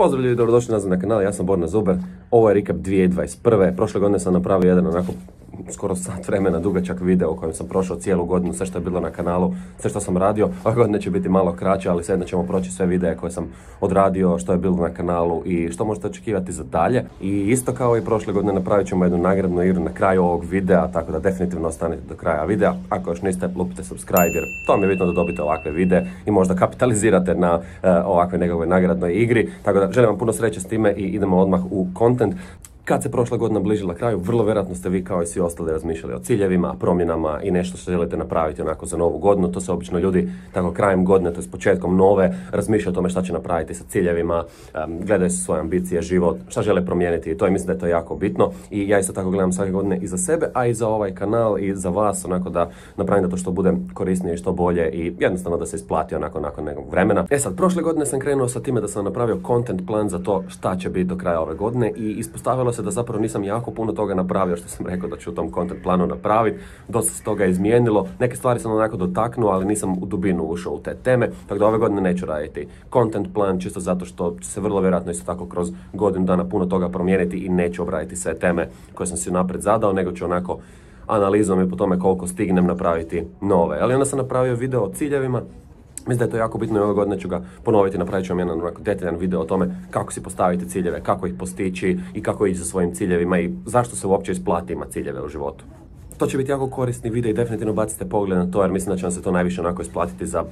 Pozdrav ljudi, dobrodošli nazad na kanal, ja sam Borna Zuber. Ovo je recap 2021. Prošle godine sam napravio jedan onako skoro sat vremena dugačak video u kojem sam prošao cijelu godinu, sve što je bilo na kanalu, sve što sam radio. Ove godine će biti malo kraće, ali svejedno ćemo proći sve videe koje sam odradio, što je bilo na kanalu i što možete očekivati za dalje. I isto kao i prošle godine napravit ćemo jednu nagradnu igru na kraju ovog videa, tako da definitivno ostanite do kraja videa. Ako još niste, lupite subscribe jer to mi je bitno da dobite ovakve videe i možda kapitalizirate na ovakve nekakve nagradnoj igri. Tako da želim vam puno sreće s time i idemo odmah u content. Kad se prošla godina bližila kraju, vrlo vjerojatno ste vi kao i svi ostali razmišljali o ciljevima, promjenama i nešto što želite napraviti onako za novu godinu. To se obično ljudi tako krajem godine, to je s početkom nove, razmišljaju o tome šta će napraviti sa ciljevima, gledaju se svoje ambicije, život, šta žele promijeniti i to, i mislim da je to jako bitno. I ja isto tako gledam svake godine i za sebe, a i za ovaj kanal i za vas, onako da napravim da to što bude korisnije i što bolje i jednostavno da se isplati onako nakon nekog vremena. E sad, prošle godine sam krenuo sa time da sam napravio content plan za to šta će biti do kraja ove godine i ispostavilo se da zapravo nisam jako puno toga napravio što sam rekao da ću u tom content planu napraviti. Dosta se toga izmijenilo, neke stvari sam onako dotaknuo, ali nisam u dubinu ušao u te teme, tako da ove godine neću raditi content plan, čisto zato što će se vrlo vjerojatno isto tako kroz godinu dana puno toga promijeniti i neću obraditi sve teme koje sam si unaprijed zadao, nego ću onako analizom i po tome koliko stignem napraviti nove. Ali onda sam napravio video o ciljevima. Mislim da je to jako bitno i ove godine ću ga ponoviti, napravit ću vam jedan detaljan video o tome kako si postaviti ciljeve, kako ih postići i kako ići za svojim ciljevima i zašto se uopće isplati imati ciljeve u životu. To će biti jako korisni video i definitivno bacite pogled na to jer mislim da će vam se to najviše onako isplatiti za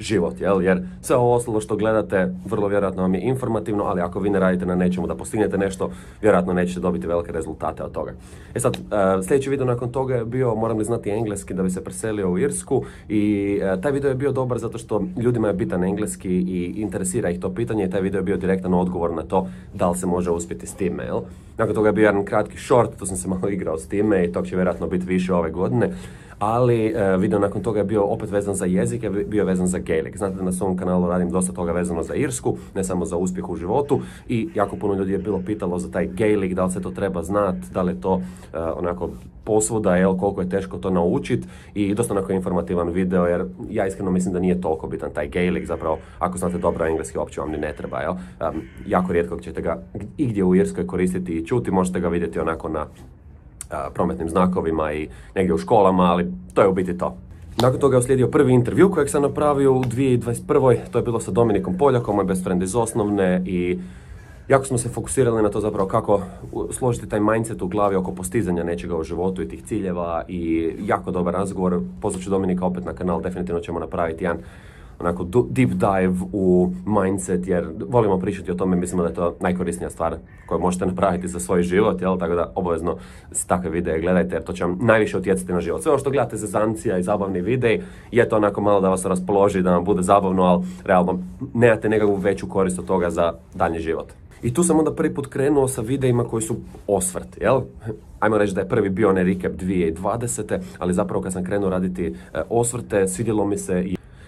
život, jer sve ovo ostalo što gledate vrlo vjerojatno vam je informativno, ali ako vi ne radite na nečemu da postignete nešto, vjerojatno nećete dobiti velike rezultate od toga. E sad, sljedeći video nakon toga je bio moram li znati engleski da bi se preselio u Irsku i taj video je bio dobar zato što ljudima je bitan engleski i interesira ih to pitanje i taj video je bio direktan odgovor na to da li se može uspjeti s time, jel? Nakon toga je bio jedan kratki short, to sam se malo igrao s time i tog će vjerojatno biti više ove godine. Ali video nakon toga je bio opet vezan za jezik, je bio vezan za Gaelic. Znate da na svom kanalu radim dosta toga vezano za Irsku, ne samo za uspjeh u životu i jako puno ljudi je bilo pitalo za taj Gaelic, da li se to treba znati, da li je to onako posvuda, koliko je teško to naučiti i dosta onako informativan video jer ja iskreno mislim da nije toliko bitan taj Gaelic, zapravo ako znate dobro engleski uopće vam ni ne treba, jako rijetko ćete ga igdje u Irskoj koristiti i čuti, možete ga vidjeti onako na prometnim znakovima i negdje u školama, ali to je u biti to. Nakon toga je uslijedio prvi intervju kojeg sam napravio u 2021. To je bilo sa Dominikom Poljakom, moj best friend iz osnovne i jako smo se fokusirali na to zapravo kako složiti taj mindset u glavi oko postizanja nečega u životu i tih ciljeva i jako dobar razgovor. Pozvat ću Dominika opet na kanal, definitivno ćemo napraviti jedan onako deep dive u mindset jer volimo pričati o tome, mislimo da je to najkorisnija stvar koju možete napraviti za svoj život, tako da obavezno takve videe gledajte jer to će vam najviše utjecati na život. Sve ovo što gledate zezancija i zabavni videi je to onako malo da vas raspoloži, da vam bude zabavno, ali realno nemate nekakvu veću korist od toga za daljnji život. I tu sam onda prvi put krenuo sa videima koji su osvrt, Ajmo reći da je prvi bio onaj recap 2020. Ali zapravo kad sam krenuo raditi osvrte, svidjelo mi se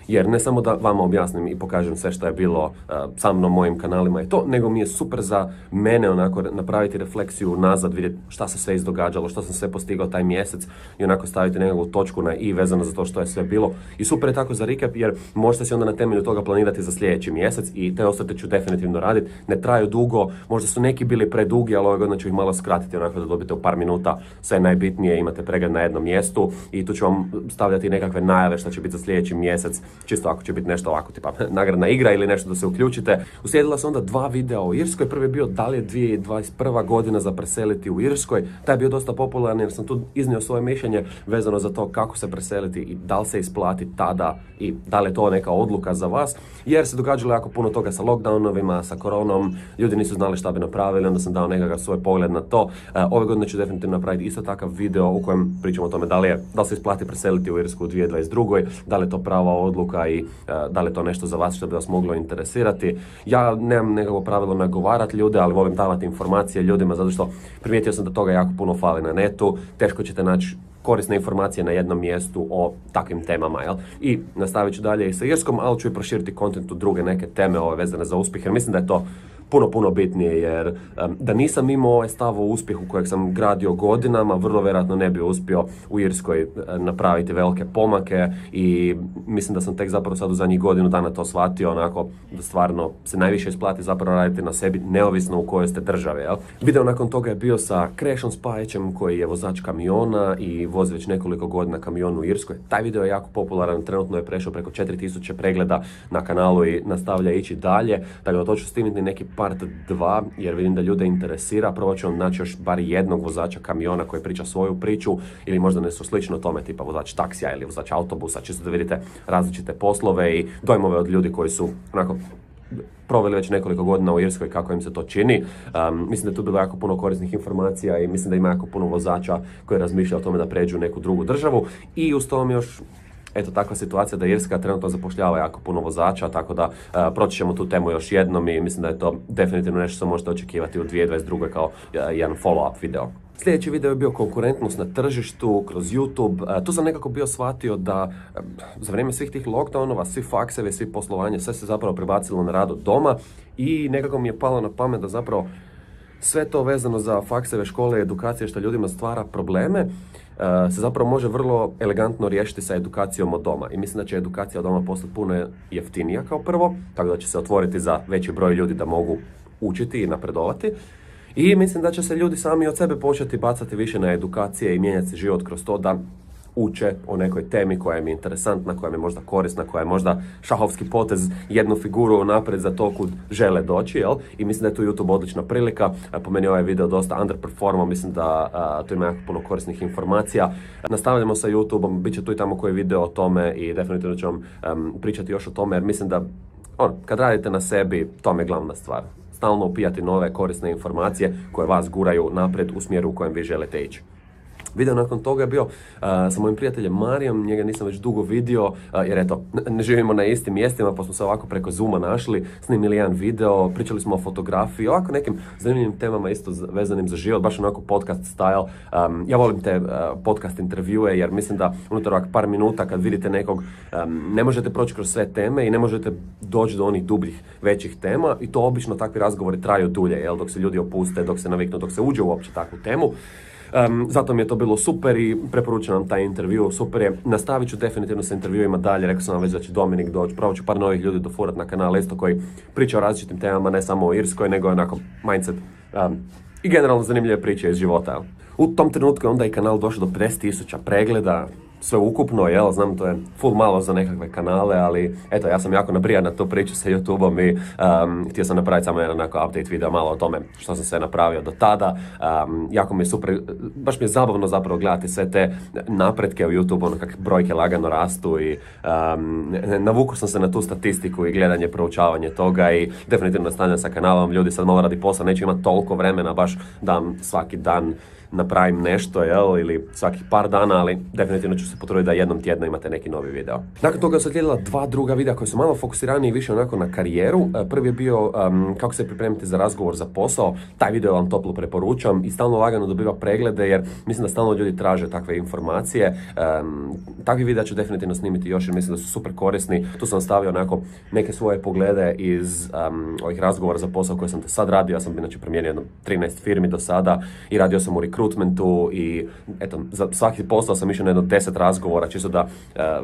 jer ne samo da vama objasnim i pokažem sve što je bilo sa mnom, mojim kanalima i to, nego mi je super za mene onako napraviti refleksiju nazad, vidjeti šta se sve izdogađalo, što sam sve postigao taj mjesec i onako staviti nekakvu točku na i vezano za to što je sve bilo. I super je tako za recap jer možete si onda na temelju toga planirati za sljedeći mjesec i te osvrte ću definitivno raditi. Ne traju dugo, možda su neki bili predugi, ali ove godine ću ih malo skratiti onako da dobite u par minuta sve najbitnije, imate pregled na jednom mjestu i tu ću vam stavljati nekakve najave što će biti za sljedeći mjesec. Čisto ako će biti nešto ovako, tipa nagradna igra ili nešto da se uključite. Uslijedila su onda dva videa o Irskoj. Prvi je bio da li je 2021. godina za preseliti u Irskoj. Taj je bio dosta popularan jer sam tu iznio svoje mišljenje vezano za to kako se preseliti i da li se isplati tada i da li je to neka odluka za vas. Jer se događalo jako puno toga sa lockdownovima, sa koronom, ljudi nisu znali šta bi napravili, onda sam dao nekakav svoj pogled na to. Ove godine ću definitivno napraviti isto takav video u kojem pričamo o tome da li se isplati preseliti u Irsku u 2022. Da li je to prava odluka i da li je to nešto za vas što bi vas moglo interesirati. Ja nemam nekako pravilo nagovarati ljude, ali volim davati informacije ljudima zato što primijetio sam da toga jako puno fali na netu. Teško ćete naći korisne informacije na jednom mjestu o takvim temama, I nastavit ću dalje i sa Irskom, ali ću i proširiti kontent u druge neke teme vezane za uspjeh, jer mislim da je to puno bitnije, jer da nisam imao ovaj stav o uspjehu kojeg sam gradio godinama, vrlo vjerojatno ne bi uspio u Irskoj napraviti velike pomake i mislim da sam tek zapravo sad u zadnjih godinu dana to shvatio, onako da stvarno se najviše isplati zapravo raditi na sebi, neovisno u kojoj ste državi, jel? Video nakon toga je bio sa Krešom Spajićem, koji je vozač kamiona i vozi već nekoliko godina kamion u Irskoj. Taj video je jako popularan, trenutno je prešao preko 4000 pregleda na kanalu i nastavlja ići dalje, tako da to ću snimiti neki part 2, jer vidim da ljude interesira. Probat ću vam naći još bar jednog vozača kamiona koji priča svoju priču, ili možda nešto slično tome, tipa vozač taksija ili vozač autobusa, čisto da vidite različite poslove i dojmove od ljudi koji su onako proveli već nekoliko godina u Irskoj, kako im se to čini. Mislim da je tu bilo jako puno korisnih informacija i mislim da ima jako puno vozača koji razmišljaju o tome da pređu u neku drugu državu. I uz to mi još eto, takva situacija da Irska trenutno zapošljava jako puno vozača, tako da proći ćemo tu temu još jednom i mislim da je to definitivno nešto što možete očekivati u 2022. kao jedan follow-up video. Sljedeći video je bio konkurentnost na tržištu kroz YouTube. Tu sam nekako bio shvatio da za vrijeme svih tih lockdownova, svi faksevi, svi poslovanje, sve se zapravo prebacilo na rad od doma i nekako mi je palo na pamet da zapravo sve to vezano za fakseve, škole i edukacije što ljudima stvara probleme se zapravo može vrlo elegantno riješiti sa edukacijom od doma. I mislim da će edukacija od doma postati puno jeftinija kao prvo, tako da će se otvoriti za veći broj ljudi da mogu učiti i napredovati. I mislim da će se ljudi sami od sebe početi bacati više na edukacije i mijenjati se život kroz to da uče o nekoj temi koja im je interesantna, koja im je možda korisna, koja je možda šahovski potez, jednu figuru naprijed za to kud žele doći, jel? I mislim da je tu YouTube odlična prilika. Po meni ovaj video dosta underperformao, mislim da tu ima jako puno korisnih informacija. Nastavljamo sa YouTubeom, bit će tu i tamo koji video o tome i definitivno ću vam pričati još o tome, jer mislim da kad radite na sebi, to je glavna stvar. Stalno upijati nove korisne informacije koje vas guraju naprijed u smjeru u kojem vi želite ići. Video nakon toga je bio sa mojim prijateljem Marijom, njega nisam već dugo vidio, jer eto, ne živimo na istim mjestima, pa smo se ovako preko Zooma našli, snimili jedan video, pričali smo o fotografiji, ovako nekim zanimljivim temama isto vezanim za život, baš onako podcast style. Ja volim te podcast intervjue, jer mislim da unutar ovak par minuta kad vidite nekog, ne možete proći kroz sve teme i ne možete doći do onih dubljih, većih tema, i to obično takvi razgovori traju dulje, jel, dok se ljudi opuste, dok se naviknu, dok se uđe uopće takvu temu. Zato mi je to bilo super i preporučujem vam taj intervju, super je. Nastavit ću definitivno sa intervjuima dalje, rekao sam vam već da će Dominik doći, probat ću par novih ljudi dofurat na kanal isto koji priča o različitim temama, ne samo o Irskoj, nego onako mindset i generalno zanimljive priče iz života. U tom trenutku je onda i kanal došao do 50.000 pregleda, sve ukupno, jel, znam to je full malo za nekakve kanale, ali eto, ja sam jako nabrijan na tu priču sa YouTubeom i htio sam napraviti samo jedan onako update video malo o tome što sam sve napravio do tada. Jako mi je super, baš mi je zabavno zapravo gledati sve te napretke u YouTube, ono kako brojke lagano rastu i navukao sam se na tu statistiku i gledanje, proučavanje toga i definitivno nastavljam sa kanalom. Ljudi sad malo radi posla, neću imati toliko vremena baš da svaki dan napravim nešto, jel, ili svakih par dana, ali definitivno ću se potruditi da jednom tjedno imate neki novi video. Nakon toga su slijedila dva druga videa koji su malo fokusirani i više onako na karijeru. Prvi je bio kako se pripremiti za razgovor za posao. Taj video vam toplo preporučam i stalno lagano dobiva preglede, jer mislim da stalno ljudi traže takve informacije. Takvi videa ću definitivno snimiti još, jer mislim da su super korisni. Tu sam stavio onako neke svoje poglede iz ovih razgovora za posao koje sam do sad radio. Ja sam inače promijenio jedno 13 firmi do sada i radio sam u rekrutmentu i eto, za svaki posao sam išao na jedno 10 razgovora, čisto da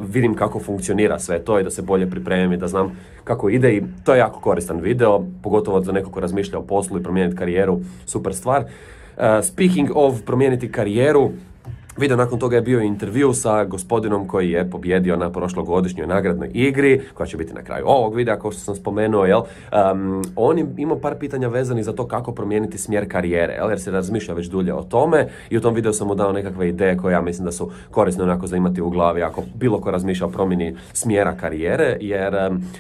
vidim kako funkcionira sve to i da se bolje pripremim i da znam kako ide, i to je jako koristan video, pogotovo za neko ko razmišlja o poslu i promijeniti karijeru, super stvar. Speaking of promijeniti karijeru, video nakon toga je bio intervju sa gospodinom koji je pobjedio na prošlogodišnjoj nagradnoj igri, koja će biti na kraju ovog videa, kao što sam spomenuo, jel? On je imao par pitanja vezanih za to kako promijeniti smjer karijere, jel? Jer se razmišlja već dulje o tome, i u tom videu sam mu dao nekakve ideje koje ja mislim da su korisne onako za imati u glavi ako bilo ko razmišlja o promjeni smjera karijere, jer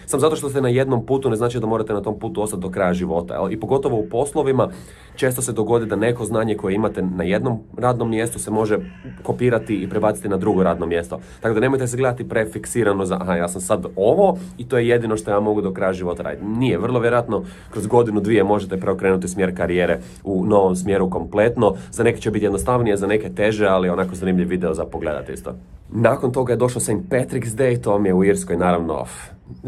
sam zato što ste na jednom putu ne znači da morate na tom putu ostati do kraja života, jel? I pogotovo u poslovima često se dogodi da neko znanje koje imate na jednom radnom mjestu se može kopirati i prebaciti na drugo radno mjesto. Tako da nemojte se gledati prefiksirano za aha, ja sam sad ovo i to je jedino što ja mogu do kraja života raditi. Nije, vrlo vjerojatno kroz godinu, dvije možete preokrenuti smjer karijere u novom smjeru kompletno. Za neke će biti jednostavnije, za neke teže, ali onako zanimljiv video za pogledati isto. Nakon toga je došao St. Patrick's Day, to mi je u Irskoj naravno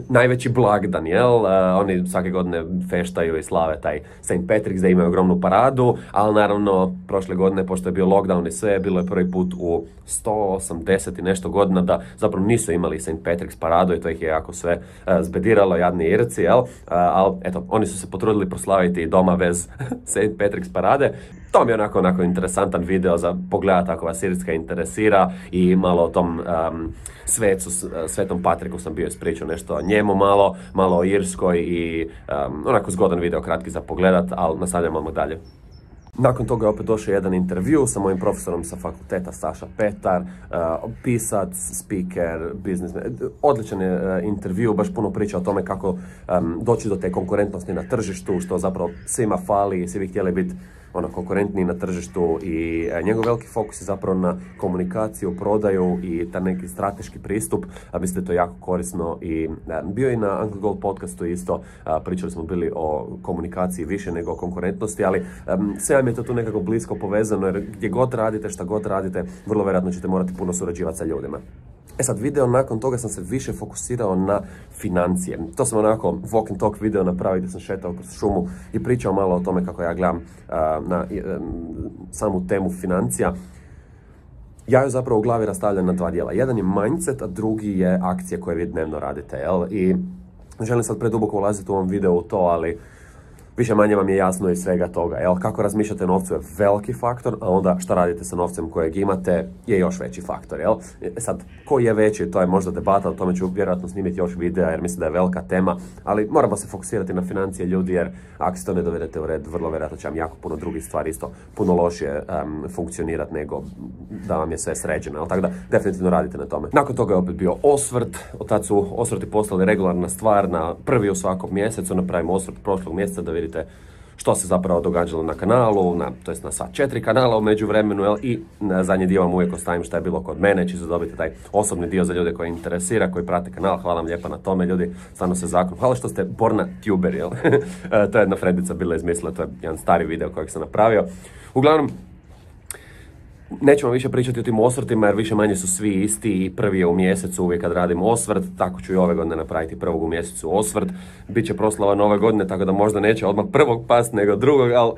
najveći blagdan, jel? Oni svake godine feštaju i slave taj St. Patrick's Day, imaju ogromnu paradu, ali naravno prošle godine, pošto je bio lockdown i sve, bilo je prvi put u 180 i nešto godina da zapravo nisu imali St. Patrick's paradu i to ih je jako sve zbediralo, jadni Irci, jel? Ali eto, oni su se potrudili proslaviti doma bez St. Patrick's parade. To mi je onako interesantan video za pogledati ako vas Irska interesira i malo o tom Svetom Patriku sam bio ispričao nešto o njemu malo o Irskoj i onako zgodan video, kratki za pogledat, ali nastavljamo odmah dalje. Nakon toga je opet došao jedan intervju sa mojim profesorom sa fakulteta, Saša Petar, pisac, speaker, biznismen. Odličan je intervju, baš puno priča o tome kako doći do te konkurentnosti na tržištu, što zapravo svima fali, svi bi htjeli biti konkurentniji na tržištu i njegov veliki fokus je zapravo na komunikaciju, prodaju i taj neki strateški pristup, a mislim da je to jako korisno i bio je na Uncle Gold podcastu isto, pričali smo bili o komunikaciji više nego o konkurentnosti, ali sve vam je to tu nekako blisko povezano jer gdje god radite, šta god radite, vrlo vjerojatno ćete morati puno surađivati sa ljudima. E sad, video nakon toga sam se više fokusirao na financije. To sam onako walk and talk video napravio gdje sam šetao kroz šumu i pričao malo o tome kako ja gledam na samu temu financija. Ja ju zapravo u glavi rastavljam na dva dijela. Jedan je mindset, a drugi je akcije koje vi dnevno radite, jel? I ne želim sad preduboko ulaziti u ovom videu u to, ali više manje vam je jasno iz svega toga, jel? Kako razmišljate o novcu je veliki faktor, a onda šta radite sa novcem kojeg imate je još veći faktor, jel? Sad, koji je veći, to je možda debata, o tome ću vjerojatno snimiti još videa jer mislim da je velika tema, ali moramo se fokusirati na financije ljudi jer ako se to ne dovedete u red, vrlo vjerojatno će vam jako puno drugih stvari isto puno lošije funkcionirati nego da vam je sve sređeno, jel? Tako da definitivno radite na tome. Nakon toga je opet bio osvrt, od tad su osvrti postali regularna stvar, na prvi u svakom mjesecu napravimo osvrt prošlog mjeseca da vidite što se zapravo događalo na kanalu, to jest na sva 4 kanala u međuvremenu, jel? I na zadnji dio vam uvijek ostavim šta je bilo kod mene, čisto dobiti taj osobni dio za ljude koji interesira, koji prate kanal. Hvala vam lijepa na tome, ljudi, stvarno se zakon. Hvala što ste borna tuber, jel? To je jedna frendica bila izmislila, to je jedan stari video kojeg sam napravio. Uglavnom, nećemo više pričati o tim osvrtima jer više manje su svi isti i prvi je u mjesecu uvijek kad radimo osvrt, tako ću i ove godine napraviti prvog u mjesecu osvrt. Biće proslava nove godine, tako da možda neće odmah prvog past nego drugog, ali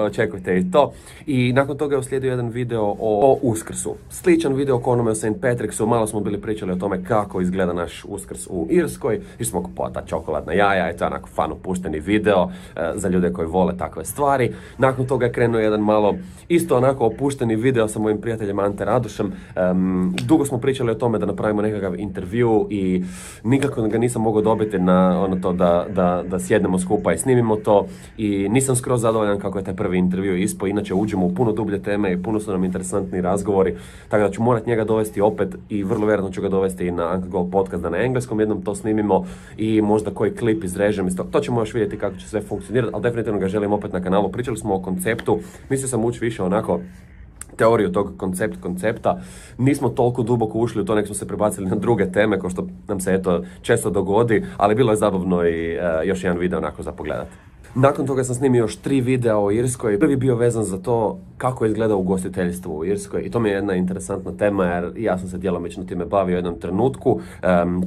očekujte i to. I nakon toga je uslijedio jedan video o Uskrsu. Sličan video ko onome o St. Patricksu, malo smo bili pričali o tome kako izgleda naš Uskrs u Irskoj, išli smo kupovati ta čokoladna jaja i to je onako fan opušteni video za ljude koji vole takve stvari. Nakon toga je krenuo jedan malo isto onako opušteni video sa mojim prijateljem Ante Radošem. Dugo smo pričali o tome da napravimo nekakav intervju i nikako ga nisam mogao dobiti na ono to da sjednemo skupa i snimimo to i nisam skroz zadovoljan kako je taj prvi intervju ispao. Inače uđemo u puno dublje teme i puno su nam interesantni razgovori, tako da ću morat njega dovesti opet i vrlo vjerojatno ću ga dovesti i na Uncle Gold podcast da na engleskom jednom to snimimo i možda koji klip izrežem iz toga. To ćemo još vidjeti kako će sve funkcionirati, ali definitivno ga želim opet na kanalu. Pričali smo o konceptu, mislio sam ući više onako teoriju tog koncepta, nismo toliko duboko ušli u to, nek smo se prebacili na druge teme, kao što nam se eto često dogodi, ali bilo je zabavno i još jedan video onako za pogledati. Nakon toga sam snimio još 3 videa o Irskoj. Prvi bio vezan za to kako izgleda ugostiteljstvo u Irskoj i to mi je jedna interesantna tema jer ja sam se djelomično time bavio u jednom trenutku.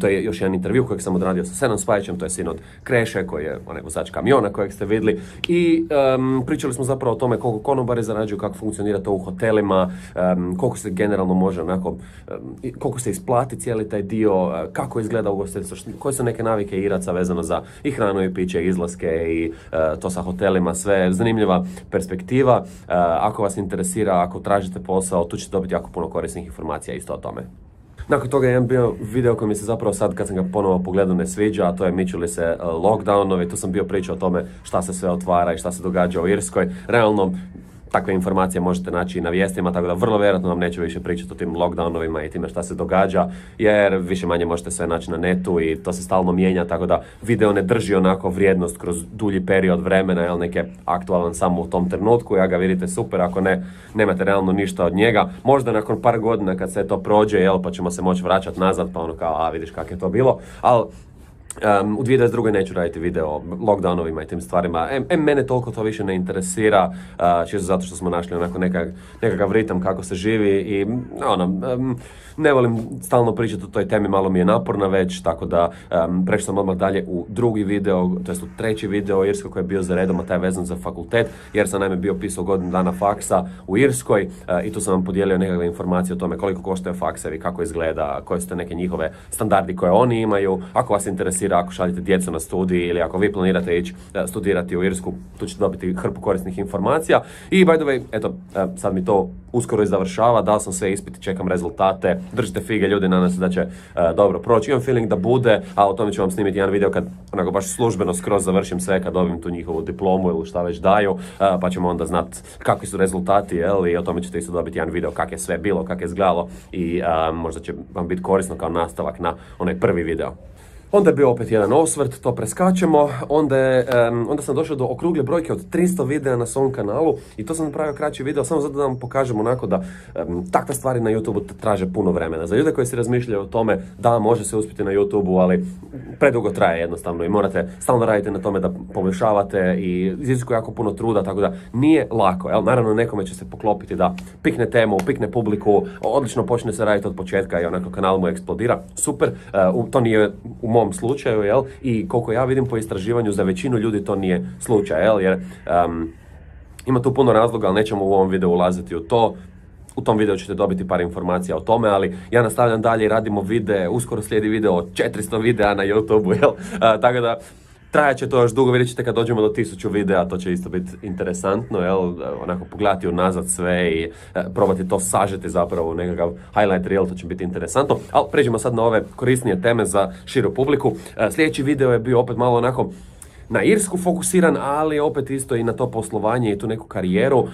To je još jedan intervju kojeg sam odradio sa Senom Spajićem, to je sin od Kreše koji je onaj vozač kamiona kojeg ste vidjeli i pričali smo zapravo o tome koliko konobari zarađuju, kako funkcionira to u hotelima, koliko se generalno može onako, koliko se isplati cijeli taj dio, kako izgleda ugostiteljstvo, koje su neke navike Iraca vezano za i hranu i piće, izlaske i to sa hotelima, sve zanimljiva perspektiva. Ako vas interesira, ako tražite posao, tu ćete dobiti jako puno korisnih informacija isto o tome. Nakon toga je jedan bio video koji mi se zapravo sad kad sam ga ponovo pogledao ne sviđa, a to je miču li se lockdownovi. Tu sam bio pričao o tome šta se sve otvara i šta se događa u Irskoj. Realno, takve informacije možete naći i na vijestima, tako da vrlo vjerojatno vam neću više pričati o tim lockdownovima i time šta se događa, jer više manje možete sve naći na netu i to se stalno mijenja, tako da video ne drži onako vrijednost kroz dulji period vremena, jel, nek je aktualan samo u tom trenutku, ja ga vidite super, ako ne, nemate realno ništa od njega. Možda nakon par godina kad se to prođe, jel, pa ćemo se moći vraćati nazad, pa ono kao, a vidiš kako je to bilo, ali U 2022. neću raditi video o lockdownovima i tim stvarima. Mene toliko to više ne interesira, čisto zato što smo našli onako nekakav ritam kako se živi i ne volim stalno pričati o toj temi, malo mi je naporna već, tako da prešao sam odmah dalje u drugi video, to jest u treći video o Irskoj koji je bio za redom, a taj je vezan za fakultet, jer sam naime bio pisao godinu dana faksa u Irskoj i tu sam vam podijelio nekakve informacije o tome koliko koštaju faksevi, kako izgleda, koje su te neke njihove standardi koje oni imaju. Ako vas interesira, ako šaljete djecu na studij ili ako vi planirate ići studirati u Irsku, tu ćete dobiti hrpu korisnih informacija. I by the way, eto, sad mi to uskoro i završava, dao sam sve ispiti, čekam rezultate, držite fige ljudi, nadam se da će dobro proći. Imam feeling da bude, a o tome ću vam snimiti jedan video kad onako baš službeno skroz završim sve, kad dobijem tu njihovu diplomu ili šta već daju, pa ćemo onda znat kakvi su rezultati, i o tome ćete isto dobiti jedan video kak je sve bilo, kak je izgledalo i možda će vam biti korisno kao nastavak na onaj prvi video. Onda je bio opet jedan osvrt, to preskačemo, onda sam došao do okrugle brojke od 300 videa na svom kanalu i to sam napravio kraći video samo zato da vam pokažem onako da takve stvari na YouTube traže puno vremena. Za ljude koji se razmišljaju o tome da može se uspjeti na YouTube, ali predugo traje jednostavno i morate stalno raditi na tome da poboljšavate i iziskuje jako puno truda, tako da nije lako. Jel? Naravno nekome će se poklopiti da pikne temu, pikne publiku, odlično počne se raditi od početka i onako kanal mu eksplodira. Super, to nije u mom slučaju, jel? I koliko ja vidim po istraživanju, za većinu ljudi to nije slučaj, jel? Jer ima tu puno razloga, ali nećemo u ovom videu ulaziti u to. U tom videu ćete dobiti par informacija o tome, ali ja nastavljam dalje i radimo videe, uskoro slijedi video od 400 videa na YouTube-u, jel? Tako da trajat će to još dugo, vidjet ćete kad dođemo do 1000 videa, to će isto biti interesantno, jel? Onako pogledati unazad sve i probati to sažeti zapravo u nekakav highlight reel, to će biti interesantno. Ali pređemo sad na ove korisnije teme za širu publiku. Sljedeći video je bio opet malo onako na Irsku fokusiran, ali opet isto i na to poslovanje i tu neku karijeru.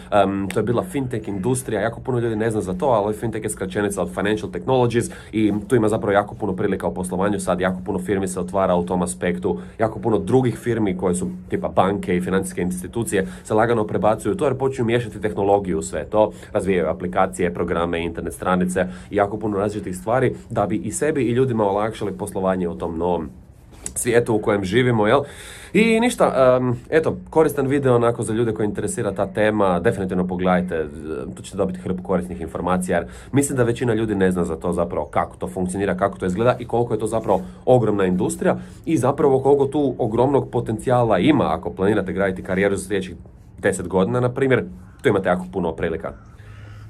To je bila fintech industrija, jako puno ljudi ne zna za to, ali fintech je skraćenica od Financial Technologies i tu ima zapravo jako puno prilika u poslovanju sad, jako puno firmi se otvara u tom aspektu, jako puno drugih firmi koje su tipa banke i financijske institucije se lagano prebacuju to jer počinju miješati tehnologiju u sve to, razvijaju aplikacije, programe, internet stranice i jako puno različitih stvari da bi i sebi i ljudima olakšali poslovanje u tom novom svijetu u kojem živimo, jel? I ništa, eto, koristan video onako za ljude koji interesira ta tema, definitivno pogledajte, tu ćete dobiti hrpu korisnih informacija, jer mislim da većina ljudi ne zna za to zapravo kako to funkcionira, kako to izgleda i koliko je to zapravo ogromna industrija i zapravo koliko tu ogromnog potencijala ima ako planirate graditi karijeru za sljedećih 10 godina, na primjer, tu imate jako puno prilika.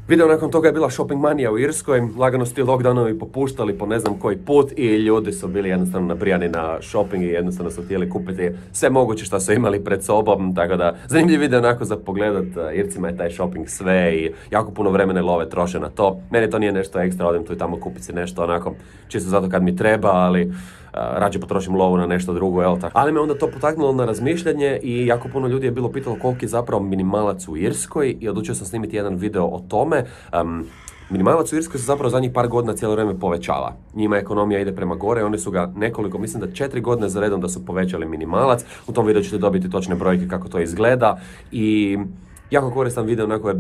Video nakon toga je bila shopping manija u Irskoj, lagano su ti lockdownovi popuštali po ne znam koji put i ljudi su bili jednostavno nabrijani na shopping i jednostavno su htjeli kupiti sve moguće što su imali pred sobom, tako da zanimljiv video onako za pogledat, Ircima je taj shopping sve i jako puno vremena i love troše na to. Meni to nije nešto ekstra, odem tu i tamo kupiti si nešto onako čisto zato kad mi treba, ali rađe potrošim lovu na nešto drugo, jel tako. Ali me onda to potaknulo na razmišljanje i jako puno ljudi je bilo pitalo koliki je zapravo minimalac u Irskoj i odlučio sam snimiti jedan video o tome. Minimalac u Irskoj se zapravo zadnjih par godina cijelo vrijeme povećava. Njima ekonomija ide prema gore, oni su ga nekoliko, mislim da 4 godine za redom da su povećali minimalac. U tom videu ćete dobiti točne brojke kako to izgleda i jako koristan video, onako je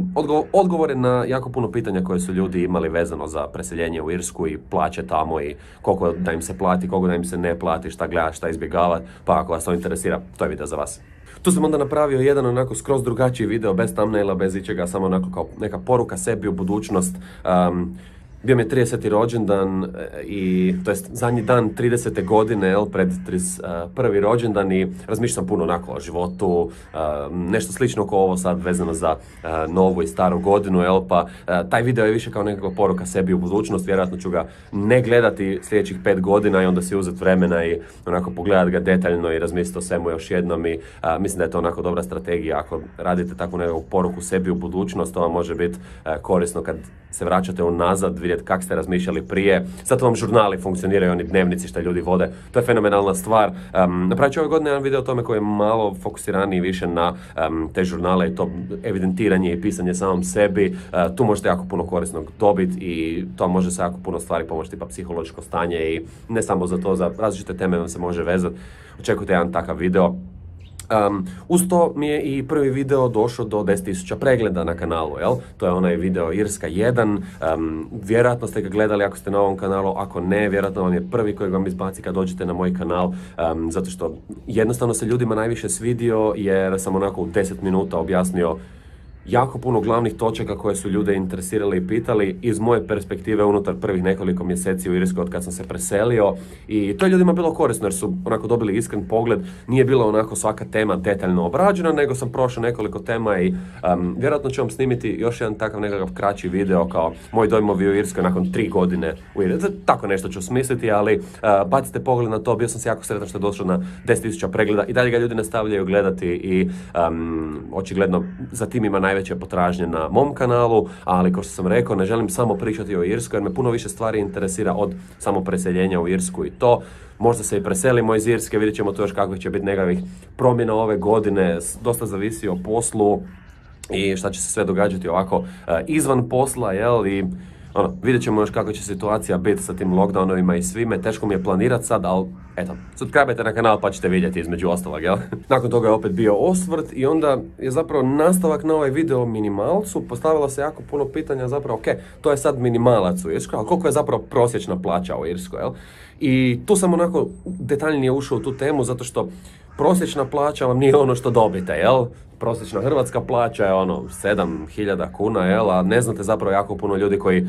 odgovore na jako puno pitanja koje su ljudi imali vezano za preseljenje u Irsku i plaće tamo i koliko da im se plati, koliko da im se ne plati, šta gledati, šta izbjegavati, pa ako vas to interesira, to je video za vas. Tu sam onda napravio jedan onako skroz drugačiji video, bez thumbnaila, bez ičega, samo onako kao neka poruka sebi u budućnost. Bio mi je 30. rođendan i to jest zadnji dan 30. godine, jel, pred 31. rođendan i razmišljam sam puno onako o životu, nešto slično kao ovo sad vezano za novu i staru godinu, jel, pa taj video je više kao nekakva poruka sebi u budućnost, vjerojatno ću ga ne gledati sljedećih 5 godina i onda si uzeti vremena i onako pogledati ga detaljno i razmisliti o svemu još jednom i mislim da je to onako dobra strategija ako radite takvu nekakvu poruku sebi u budućnost, to vam može biti korisno kad se vraćate unazad, vidjeti kako ste razmišljali prije. Zato vam žurnali funkcioniraju, oni dnevnici što ljudi vode. To je fenomenalna stvar. Napravit ću ove godine jedan video o tome koji je malo fokusiraniji više na te žurnale i to evidentiranje i pisanje samom sebi. Tu možete jako puno korisnog dobiti i to može se jako puno stvari pomoći, tipa psihološko stanje i ne samo za to, za različite teme vam se može vezati. Očekujte jedan takav video. Uz to mi je i prvi video došao do 10.000 pregleda na kanalu, jel? To je onaj video Irska 1, vjerojatno ste ga gledali ako ste na ovom kanalu, ako ne, vjerojatno vam je prvi kojeg vam izbaci kad dođete na moj kanal, zato što jednostavno se ljudima najviše svidio jer sam onako u 10 minuta objasnio jako puno glavnih točaka koje su ljude interesirali i pitali iz moje perspektive unutar prvih nekoliko mjeseci u Irskoj od kad sam se preselio i to je ljudima bilo korisno jer su onako dobili iskren pogled, nije bilo onako svaka tema detaljno obrađena, nego sam prošao nekoliko tema i vjerojatno ću vam snimiti još jedan takav nekakav kraći video kao moj dojmovi u Irskoj nakon 3 godine u Irskoj. Tako nešto ću smisliti, ali bacite pogled na to, bio sam se jako sretan što je došlo na 10.000 pregleda i dalje ga ljudi nastavljaju gledati i očigledno za tim ima najveće potražnje na mom kanalu, ali kao što sam rekao, ne želim samo pričati o Irskoj jer me puno više stvari interesira od samo preseljenja u Irsku i to. Možda se i preselimo iz Irske, vidjet ćemo to još kakvih će biti nekakvih promjena ove godine, dosta zavisi o poslu i šta će se sve događati ovako izvan posla, jel, i vidjet ćemo još kako će situacija biti sa tim lockdownovima i svime, teško mi je planirati sad, ali eto, subscribe-ajte na kanal pa ćete vidjeti između ostalog, jel? Nakon toga je opet bio osvrt i onda je zapravo nastavak na ovaj video o minimalcu, postavilo se jako puno pitanja zapravo, ok, to je sad minimalac u Irskoj, ali koliko je zapravo prosječna plaća u Irskoj, jel? I tu sam onako detaljnije ušao u tu temu zato što prosječna plaća vam nije ono što dobite, jel? Prosječna hrvatska plaća je 7.000 kuna, jel? A ne znate zapravo jako puno ljudi koji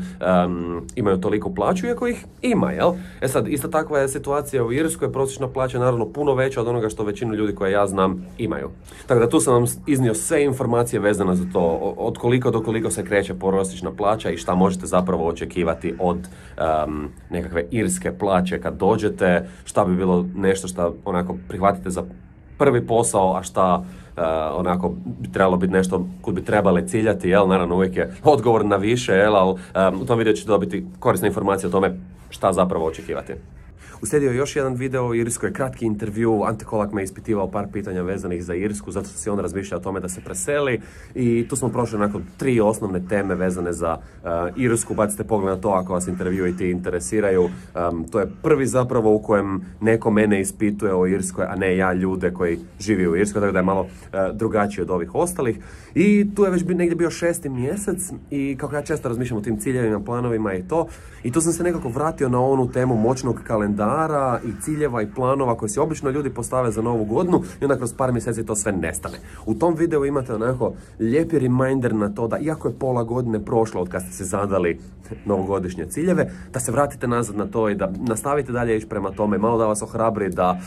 imaju toliku plaću, iako ih ima, jel? E sad, ista takva je situacija u Irskoj, prosječna plaća je naravno puno veća od onoga što većinu ljudi koje ja znam imaju. Tako da tu sam vam iznio sve informacije vezane za to, od koliko do koliko se kreće prosječna plaća i šta možete zapravo očekivati od nekakve irske plaće kad dođete, šta bi bilo nešto što onako prihvatite za prvi posao, a šta onako bi trebalo biti nešto kud bi trebali ciljati, jel, naravno uvijek je odgovor na više, jel, ali u tom videu ćete dobiti korisne informacije o tome šta zapravo očekivati. Uslijedio je još jedan video o Irskoj, kratki intervju, Ante Kolak me ispitivao par pitanja vezanih za Irsku, zato što si on razmišlja o tome da se preseli i tu smo prošli nakon 3 osnovne teme vezane za Irsku, bacite pogled na to ako vas intervjui ti interesiraju. To je prvi zapravo u kojem neko mene ispituje o Irskoj, a ne ja ljude koji živi u Irskoj, tako da je malo drugačiji od ovih ostalih. I tu je već negdje bio 6. mjesec i kako ja često razmišljam o tim ciljevima, planovima i to, i tu sam se nekako vratio na onu temu moćnog kalendara i ciljeva i planova koje si obično ljudi postave za novu godinu i onda kroz par mjeseci to sve nestane. U tom videu imate onako lijepi reminder na to da iako je pola godine prošlo od kad ste se zadali novogodišnje ciljeve, da se vratite nazad na to i da nastavite dalje ići prema tome, malo da vas ohrabri, da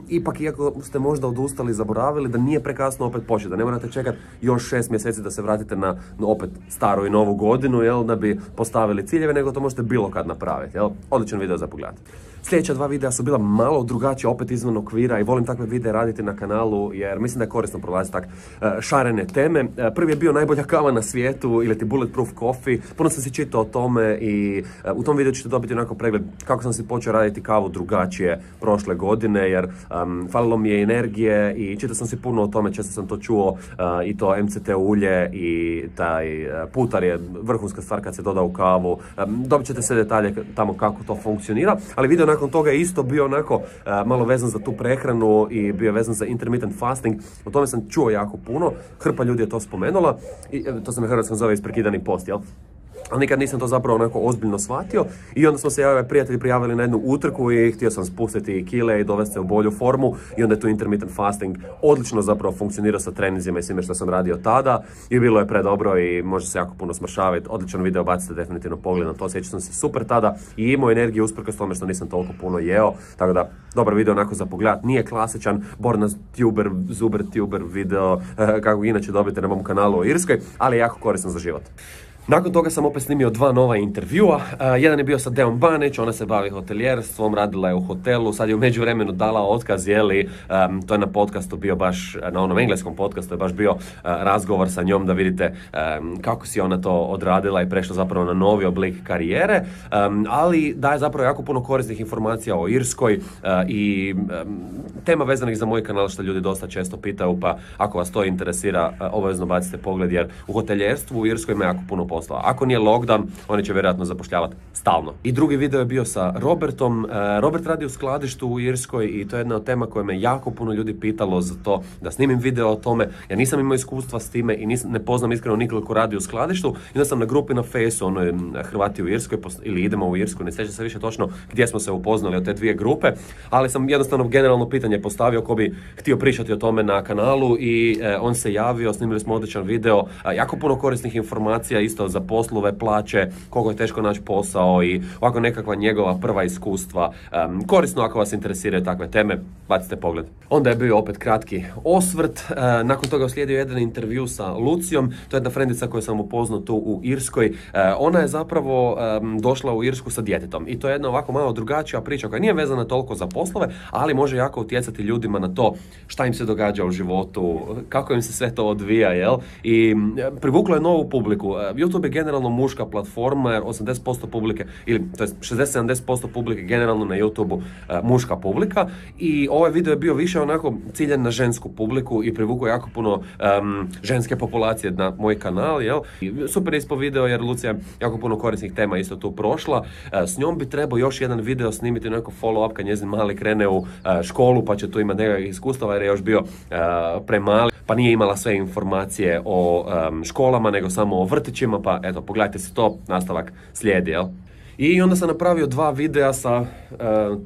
ipak iako ste možda odustali, zaboravili, da nije prekasno opet početi, da ne morate čekati još 6 mjeseci da se vratite na opet staru i novu godinu, jel, da bi postavili ciljeve, nego to možete bilo kad napraviti, jel? Odličan video za pogled. Sljedeća 2 videa su bila malo drugačija, opet izvan okvira i volim takve videe raditi na kanalu jer mislim da je korisno prolaziti tak šarene teme. Prvi je bio najbolja kava na svijetu ili ti Bulletproof Coffee, puno sam si čitao o tome i u tom videu ćete dobiti onako pregled kako sam si počeo raditi kavu drugačije prošle godine jer falilo mi je energije i čitao sam si puno o tome, često sam to čuo i to MCT ulje i taj putar je vrhunska stvar kad se doda u kavu. Dobit ćete sve detalje tamo kako to funkcionira, ali video nakon toga je isto bio onako malo vezan za tu prehranu i bio vezan za intermittent fasting. O tome sam čuo jako puno, hrpa ljudi je to spomenula i to se na hrvatskom zove isprekidani post, jel? Ali nikad nisam to zapravo onako ozbiljno shvatio i onda smo se prijatelji prijavili na jednu utrku i htio sam spustiti kile i dovesti se u bolju formu i onda je tu intermittent fasting odlično zapravo funkcionirao sa treninzima i svime što sam radio tada i bilo je predobro i može se jako puno smršaviti. Odličan video, bacite definitivno pogled na to, sjećam sam se super tada i imao energiju usprkos tome što nisam toliko puno jeo, tako da dobar video onako za pogled, nije klasičan Borna tuber, zuber tuber video kako inače dobijete na mom kanalu o Irskoj, ali je jako korisno za život. Nakon toga sam opet snimio 2 nova intervjua, jedan je bio sa Deom Banić, ona se bavi hotelijerstvom, radila je u hotelu, sad je u međuvremenu dala otkaz, jeli, to je na podcastu bio baš, na onom engleskom podcastu je baš bio razgovor sa njom da vidite kako si ona to odradila i prešla zapravo na novi oblik karijere, ali daje zapravo jako puno korisnih informacija o Irskoj i tema vezanih za moj kanal što ljudi dosta često pitaju, pa ako vas to interesira, obavezno bacite pogled jer u hotelijerstvu u Irskoj ima jako puno poslova. Ako nije lockdown, oni će vjerojatno zapošljavati stalno. I drugi video je bio sa Robertom. Robert radi u skladištu u Irskoj i to je jedna od tema koja me jako puno ljudi pitalo za to da snimim video o tome. Ja nisam imao iskustva s time i ne poznam iskreno nikoga ko radi u skladištu. I onda sam na grupi na Fejsu, ono je Hrvati u Irskoj, ili idemo u Irsku, ne sjećam se više točno gdje smo se upoznali od te dvije grupe, ali sam jednostavno generalno pitanje postavio ko bi htio pričati o tome na kanalu i on se javio, snimili smo odličan video, jako puno korisnih informacija isto za poslove, plaće, koliko je teško naći posao i ovako nekakva njegova prva iskustva. Korisno ako vas interesiraju takve teme, bacite pogled. Onda je bio opet kratki osvrt, nakon toga uslijedio jedan intervju sa Lucijom, to je jedna frendica koju sam upoznao tu u Irskoj. Ona je zapravo došla u Irsku sa djetetom i to je jedna ovako malo drugačija priča koja nije vezana toliko za poslove, ali može jako utjecati ljudima na to šta im se događa u životu, kako im se sve to odvija, jel? I privuklo je novu publiku. YouTube je generalno muška platforma jer 80% publike, ili to je 60-70% publike generalno na YouTube-u muška publika i ovaj video je bio više onako ciljan na žensku publiku i privukao jako puno ženske populacije na moj kanal, jel? I super ispo video jer Lucija je jako puno korisnih tema isto tu prošla. S njom bi trebao još jedan video snimiti, neko follow-up kad njezin mali krene u školu pa će tu imati nekakvih iskustava jer je još bio premali pa nije imala sve informacije o školama nego samo o vrtićima, pa eto pogledajte si to, nastavak slijedi, jel? I onda sam napravio 2 videa sa